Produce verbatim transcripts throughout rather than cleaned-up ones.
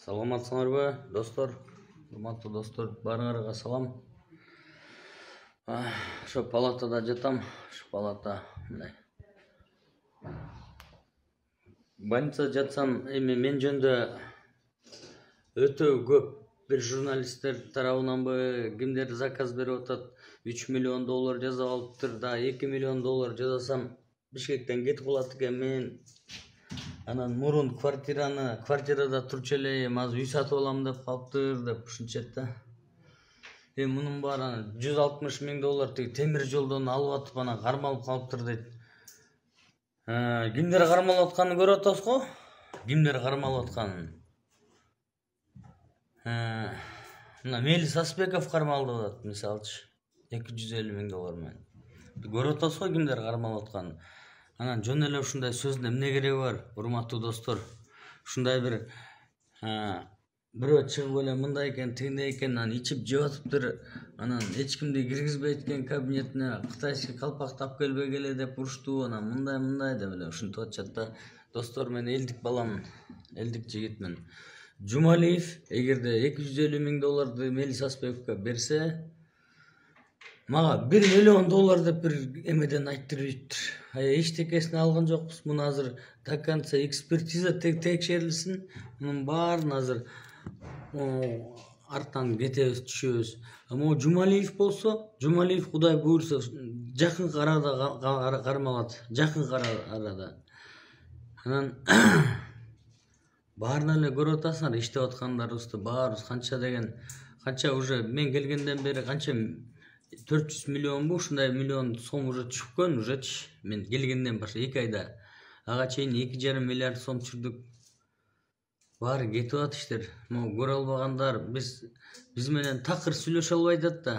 Саламатсыңарбы, достор? Урматтуу достор, баарыңарга салам. Ошо палатада жатам. Ошо палата мындай. Больницада жатсам, эми мен жөнүндө өтө көп бир журналисттер тарабынанбы кимдер заказ берип атат, үч миллион доллар жасап алыптыр, да эки миллион доллар жасасам Бишкектен кетип калат экен мен. Анан мурун квартираны, квартирада турчу элем, азыр үй сатып алам деп калыптыр деп ушинчет да. Эми мунун баары жүз алтымыш миң доллар тиги темир жолдон алып атып анан кармалып калыптыр дейт. Кимдер кармалып атканын көрүп атабыз го? Кимдер кармалып атканын? Мына Мелис Асбеков кармалып атат, мисалчы, эки жүз элүү миң доллар менен. Көрүп атабыз го кимдер кармалып атканын. Анан жөн эле ушундай сөздүн эмне кереги бар, урматтуу достор? Ушундай бир бирөө чыгып эле мындай экен, тигиндей экен, анан ичип жеп атыптыр, анан эч кимди киргизбейт экен кабинетине, кытайский калпак тап келбей эле деп урушту, анан мындай мындай деп эле ушинтип атышат да. Достор, мен элдик баламын, элдик жигитмин. Жумалиев эгерде эки жүз элүү миң долларды Мелис Асбековго берсе, мага бир миллион доллар деп бир эмеден айттырып ийиптир. Эчтекесин алган жокпуз. Муну азыр до конца экспертиза текшерилсин. Мунун баарын азыр арттан кетебиз, түшөбүз. А могу Жумалиев болсо, Жумалиев Кудай буйрса жакын арада кармалат, жакын арада. Анан баарын эле көрүп атасыңар, иштеп аткандарыбызды баарыбыз канча деген, канча уже мен келгенден бери канча төрт жүз миллионбу, ушундай миллион сом уже түшкөн, ужечи. Мен келгенден башлап эки айда. Ага чейин эки жарым миллиард сом түшүрдүк. Баары кетип атыштыр. Могу көрө албагандар, биз биз менен такыр сүйлөшө албай атат да.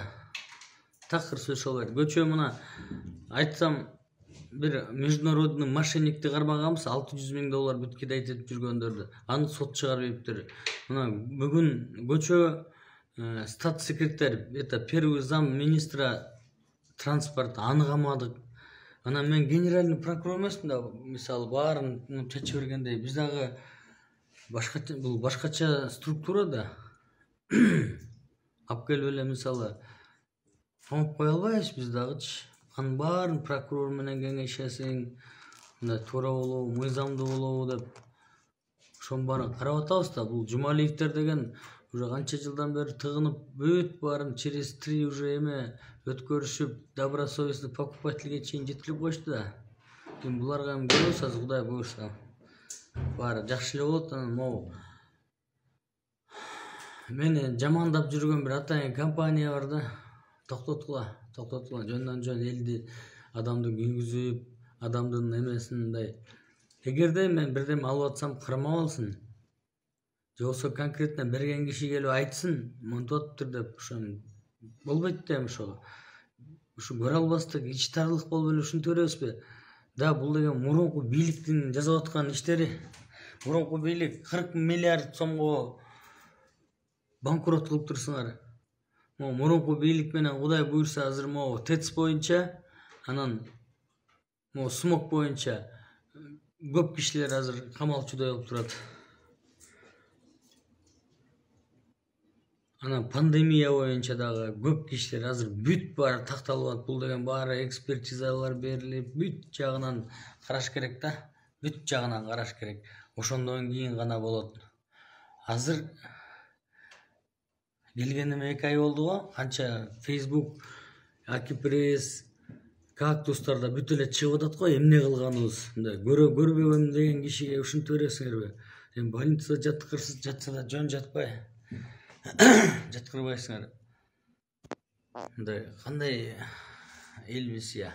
Такыр сүйлөшө албайт. Көчө мына айтсам, бир международный мошенникти кармаганбыз, алты жүз миң доллар бүт кидайт этип жүргөндөрдү. Аны сот чыгарып ийиптир. Мына бүгүн көчө статс-секретарь, это первый зам министра транспорта, аны камадык. Анан мен генеральный прокурор эмесмин да, мисалы баарын чечип бергендей, биз дагы башкача, бул башкача структура да. Алып келип эле мисалы камап кое албайбыз биз дагычы. Анын баарын прокурор менен кеңешесиң, мындай туура болобу, мыйзамдуу болобу деп ошонун баарын карап атабыз да. Бул Жумалиевдер деген уже канча жылдан бери тыгынып, бүт баарын через три уже эме өткөрүшүп, добросовестный покупательге чейин жеткирип коюшту да. Эми буларга эми көрөбүз азыр, Кудай буйрса. Баары жакшы эле болот. Анан могу мени жамандап жүргөн бир атайын компания бар да. Токтоткула, токтоткула, жөндөн жөн элди, адамды күлгүзүп, адамдын эмесин мындай. Эгерде мен бирдеме алып атсам, кармап алсын. Же болбосо конкретно берген киши келип айтсын, монтип атыптыр деп, ошону болбойт да эми ошо. Ушу көрө албастык, ич тарлык болуп эле ушинтип беребизби? Да, бул деген мурунку бийликтин жасап аткан иштери. Мурунку бийлик кырк миллиард сомго банкрот кылып турсуңар. Могу мурунку бийлик менен Кудай буйрса азыр могу ТЭЦ боюнча, анан могу смог боюнча көп кишилер азыр камалчудай болуп турат. Анан пандемия боюнча дагы көп кишилер азыр бүт баары такталып атат. Бул деген баары экспертизалар берилип, бүт жагынан караш керек да. Бүт жагынан караш керек. Ошондон кийин гана болот. Азыр келгениме эки ай болду го. Канча Facebook, Акипресс, Кактустарда бүт эле чыгып атат го, эмне кылганыбыз. Мындай көрө көрбөгөм деген кишиге ушинтип бересиңерби? Эми больницада жаткырсыз жатса да жөн жатпай. Жаткырбайсыңар. Мындай кандай элбиз я.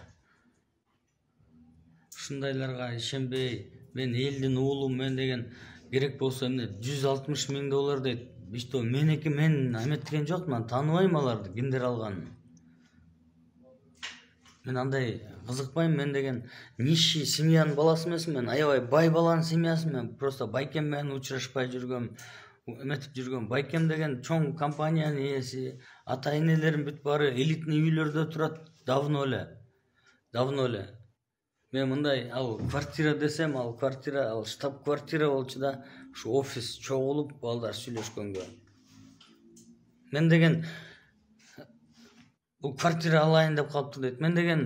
Ушундайларга ишенбей, мен элдин уулумун деген керек болсо эмне жүз алтымыш миң доллар дейт. Что меники, мен эметкен жокмун, тааныбайм аларды, кимдер алганын. Мен андай кызыкпайм, мен деген нищий семьянын баласы эмесмин, аябай бай баланын семьясымын. Просто байкем менен учурашпай жүргөм, эметип жүргөм. Байкем деген чоң компаниянын ээси, ата энелерим бүт баары элитный үйлөрдө турат, давно эле. Давно эле. Мен мындай ал квартира десем, ал квартира, ал штаб квартира болчу да. ушу офис чогулуп балдар сүйлөшкөнгө мен деген бул квартира алайын деп калыптыр дейт. Мен деген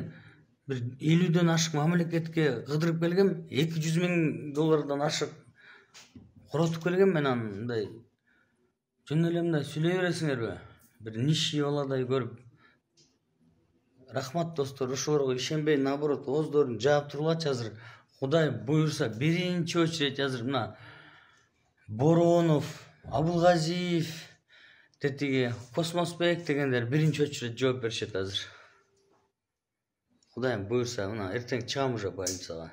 бир элүүдөн ашык мамлекетке кыдырып келгем, эки жүз миң доллардан ашык коротуп келгем. Мен андай жөн эле мындай сүйлөй бересиңерби? Бир нищий баладай көрүп. Рахмат достор, ошолорго ишенбей, наоборот, ооздорун жаап тургулачы азыр. Кудай буйрса, биринчи очередь азыр мына Боронов, Абылгазиев, тетиги Космосбек дегендер биринчи очередь жооп беришет азыр. Кудайым буйрса, мына эртең чыгам уже больницага.